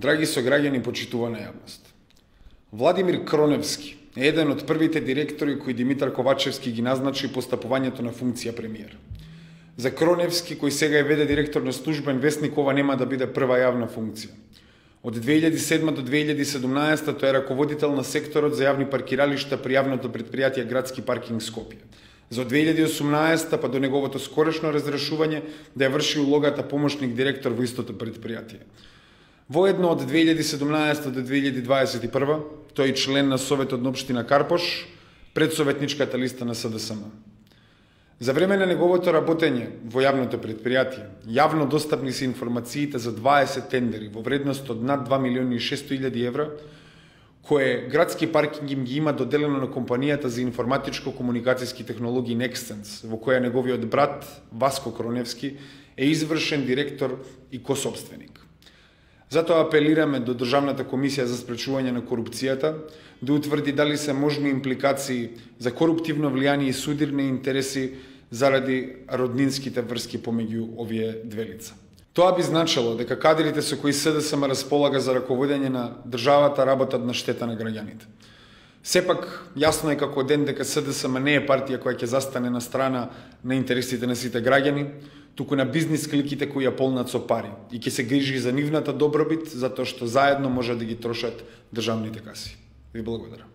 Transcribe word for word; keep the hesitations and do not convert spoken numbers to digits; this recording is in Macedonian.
Драги сограѓани, почитувана јавност. Владимир Кроневски е еден од првите директори кои Димитар Ковачевски ги назначи постапувањето на функција премиер. За Кроневски, кој сега е веде директор на службен весник, ова нема да биде прва јавна функција. Од две илјади и седма до две илјади и седумнаесета тој е раководител на секторот за јавни паркиралишта при јавното претпријатие Градски паркинг Скопје. За две илјади и осумнаесета па до неговото скорешно разрешување да ја врши улогата помошник директор во истото претпријатие. Воедно од две илјади и седумнаесета до две илјади и дваесет и прва тој е член на Советот на општина Карпош, предсоветничката листа на СДСМ. За време на неговото работење во јавното претпријатие, јавно достапни се информациите за дваесет тендери во вредност од над два милиони и шесто илјади евра, кое Градски паркинг им ги има доделено на компанијата за информатичко-комуникацијски технологии Nextsense, во која неговиот брат Васко Кроневски е извршен директор и кособственик. Затоа апелираме до Државната комисија за спречување на корупцијата да утврди дали се можни импликации за коруптивно влијание и судирни интереси заради роднинските врски помеѓу овие две лица. Тоа би значило дека кадрите со кои СДСМ располага за раководење на државата работат на штета на граѓаните. Сепак, јасно е како ден дека СДСМ не е партија која ќе застане на страна на интересите на сите граѓани, туку на бизнис кликите кои ја полнат со пари и ќе се грижи за нивната добробит, затоа што заедно може да ги трошат државните каси. Ви благодарам.